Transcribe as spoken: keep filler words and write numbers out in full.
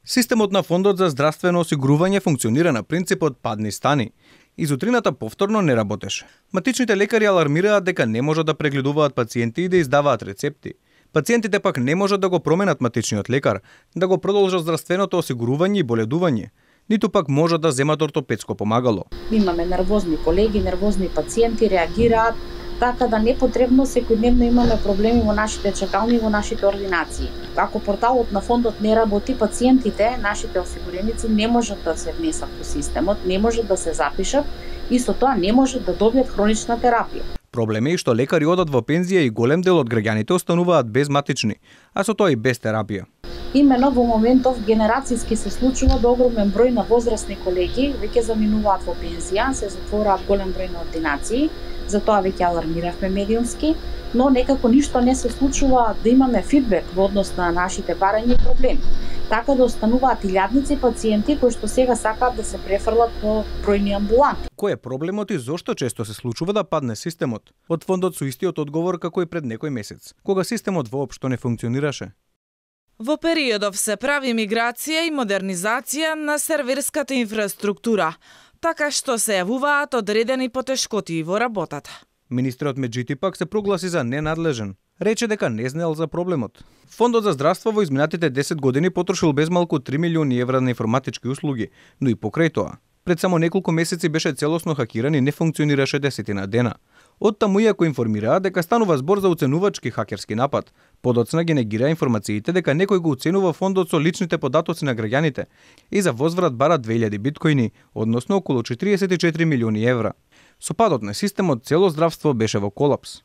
Системот на Фондот за здравствено осигурување функционира на принципот падни стани. Изутрината повторно не работеше. Матичните лекари алармираат дека не можат да прегледуваат пациенти и да издаваат рецепти. Пациентите пак не можат да го променат матичниот лекар, да го продолжат здравственото осигурување и боледување, ниту пак можат да земат ортопедско помагало. Имаме нервозни колеги, нервозни пациенти, реагираат, така да непотребно секојдневно имаме проблеми во нашите чакални и во нашите ординации. Ако порталот на фондот не работи, пациентите, нашите осигуреници не можат да се внесат во системот, не можат да се запишат и со тоа не можат да добијат хронична терапија. Проблем е што лекари одат во пензија и голем дел од граѓаните остануваат без матични, а со тоа и без терапија. Имено во моментов генерацијски се случува да огромен број на возрастни колеги веќе заминуваат во пензија, се затвораат голем број на ординации, затоа веќе алармиравме медиумски, но некако ништо не се случува да имаме фидбек во однос на нашите барања и проблеми. Така да остануваат илјадници пациенти кои што сега сакаат да се префрлат по бројни амбуланти. Кој е проблемот и зошто често се случува да падне системот? Од фондот со истиот одговор како и пред некој месец, кога системот воопшто не функционираше. Во периодов се прави миграција и модернизација на серверската инфраструктура, така што се јавуваат одредени потешкоти во работата. Министерот Меджити пак се прогласи за ненадлежен. Рече дека не знаел за проблемот. Фондот за здравство во изминатите десет години потрошил безмалку три милиони евра на информатички услуги, но и покрај тоа. Пред само неколку месеци беше целосно хакиран и не функционираше десетина дена. Од таму иако информираа дека станува збор за уценувачки хакерски напад, подоцна ги негира информациите дека некој го уценува фондот со личните податоци на граѓаните и за возврат бара две илјади биткоини, односно околу четириесет и четири милиони евра. Со падот на системот цело здравство беше во колапс.